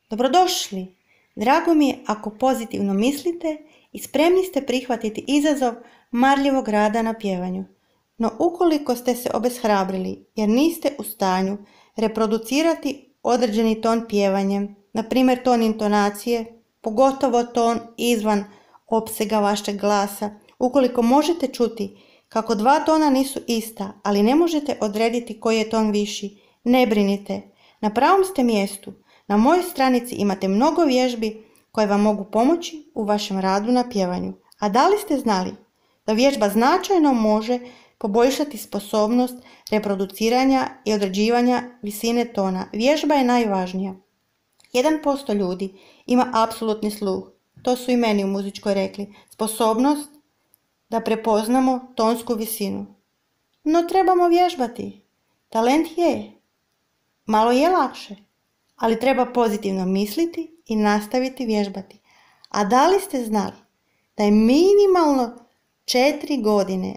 Dobrodošli! Drago mi je ako pozitivno mislite i spremni ste prihvatiti izazov marljivog rada na pjevanju. No ukoliko ste se obeshrabrili jer niste u stanju reproducirati određeni ton pjevanjem, na primjer ton intonacije, pogotovo ton izvan opsega vašeg glasa, ukoliko možete čuti kako dva tona nisu ista, ali ne možete odrediti koji je ton viši, ne brinite, na pravom ste mjestu. Na mojoj stranici imate mnogo vježbi koje vam mogu pomoći u vašem radu na pjevanju. A da li ste znali da vježba značajno može poboljšati sposobnost reproduciranja i određivanja visine tona? Vježba je najvažnija. 1% ljudi ima apsolutni sluh. To su i meni u muzičkoj rekli. Sposobnost da prepoznamo tonsku visinu. No trebamo vježbati. Talent je. Malo je lakše. Ali treba pozitivno misliti i nastaviti vježbati. A da li ste znali da je minimalno 4 godine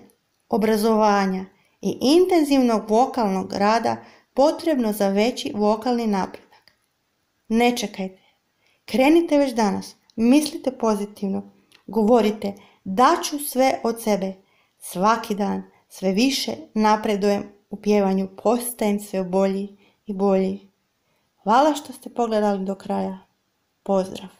obrazovanja i intenzivnog vokalnog rada potrebno za veći vokalni napredak? Ne čekajte. Krenite već danas. Mislite pozitivno. Govorite daću sve od sebe. Svaki dan sve više napredujem u pjevanju. Postajem sve bolji i bolji. Hvala što ste pogledali do kraja. Pozdrav!